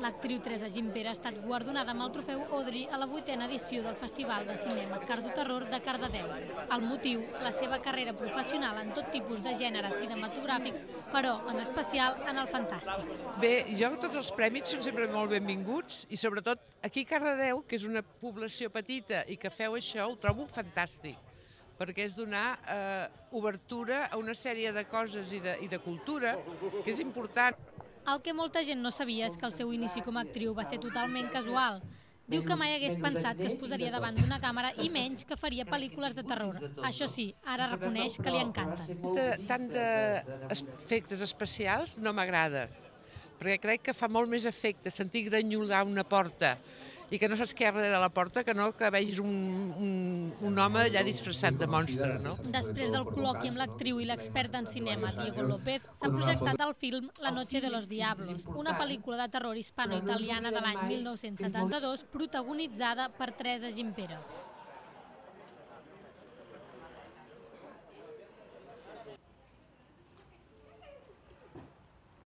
L'actriu Teresa Gimpera ha estat guardonada amb el trofeu Audrey a la 8a edició del Festival de Cinema Cardo-Terror de Cardedeu. El motiu, la seva carrera professional en tot tipus de gèneres cinematogràfics, però en especial en el fantàstic. Bé, jo tots els premis són sempre molt benvinguts i sobretot aquí a Cardedeu, que és una població petita i que feu això, ho trobo fantàstic, perquè és donar obertura a una sèrie de coses i de cultura que és important. El que molta gent no sabia és que el seu inici com a actriu va ser totalment casual. Diu que mai hagués pensat que es posaria davant d'una càmera i menys que faria pel·lícules de terror. Això sí, ara reconeix que li encanta. Tant d'efectes especials no m'agrada, perquè crec que fa molt més efecte sentir granyolar una porta i que no saps què hi ha darrere de la porta, que no que vegis un home allà disfressat de monstre, no? Després del col·loqui amb l'actriu i l'expert en cinema Diego López, s'ha projectat el film La noche de los diablos, una pel·lícula de terror hispano-italiana de l'any 1972 protagonitzada per Teresa Gimpera.